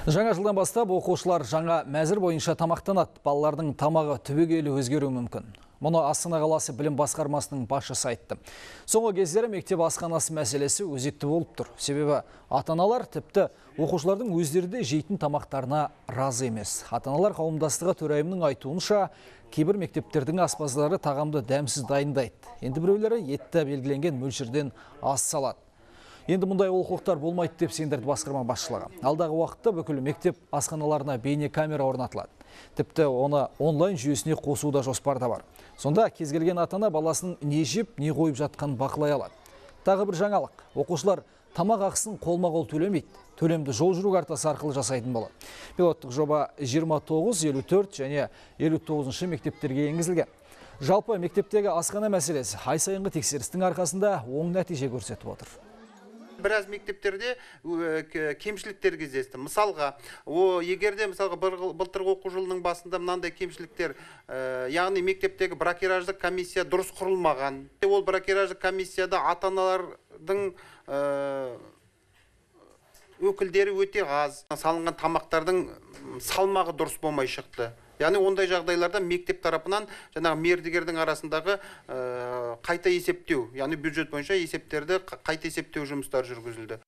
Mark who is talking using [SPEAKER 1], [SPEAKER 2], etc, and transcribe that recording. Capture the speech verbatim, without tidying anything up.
[SPEAKER 1] Жаңа жылдан бастап оқушылар жаңа мәзір бойынша тамақтанады. Балалардың тамағы түбегейлі өзгеруі мүмкін. Мұны Астана қаласы білім басқармасының басшысы айтты. Соңғы кездері мектеп асханасы мәселесі өзекті болып тұр. Себебі ата-аналар тіпті оқушылардың өздері де жейтін тамақтарына разы емес. Ата-аналар қауымдастығы төрайымының айтуынша, кейбір мектептердің аспаздары тағамды дәмсіз дайындайды. Енді біреулері етті белгіленген мөлшерден аз салады. Енді мұндай олқылықтар болмайды деп сендірді басқарма басшылығы. Алдағы уақытта бүкіл мектеп асханаларына бейне камера орнатылады. Тіпті оны онлайн жүйесіне қосу да жоспарда бар. Сонда кез келген ата-ана баласының не жеп, не қойып жатқанын бақылай алады. Тағы бір жаңалық. Оқушылар тамақ ақысын қолма-қол төлемейді. Төлемді жол жүру картасы арқылы жасайтын болады. Пилоттық жоба жиырма тоғыз, елу төрт және елу тоғызыншы мектептерге енгізілген. Жалпы мектептегі асхана мәселесі ай сайынғы тексерістің арқасында оң нәтиже көрсетіп отыр.
[SPEAKER 2] Біраз мектептерде кемшіліктер кездесті. Мысалға, о егерде мысалға былтырғы оқу жылының басында мынандай кемшіліктер, яғни мектептегі бракераждық комиссия дұрыс құрылмаған. Ол бракераждық комиссияда ата-аналардың өкілдері өте аз. Салынған тамақтардың салмағы дұрыс болмай шықты. Яғни ондай жағдайларда мектеп тарапынан жаңағы мердігердің арасындағы қайта есептеу, яғни бюджет бойынша есептерді қайта есептеу жұмыстары жүргізілді.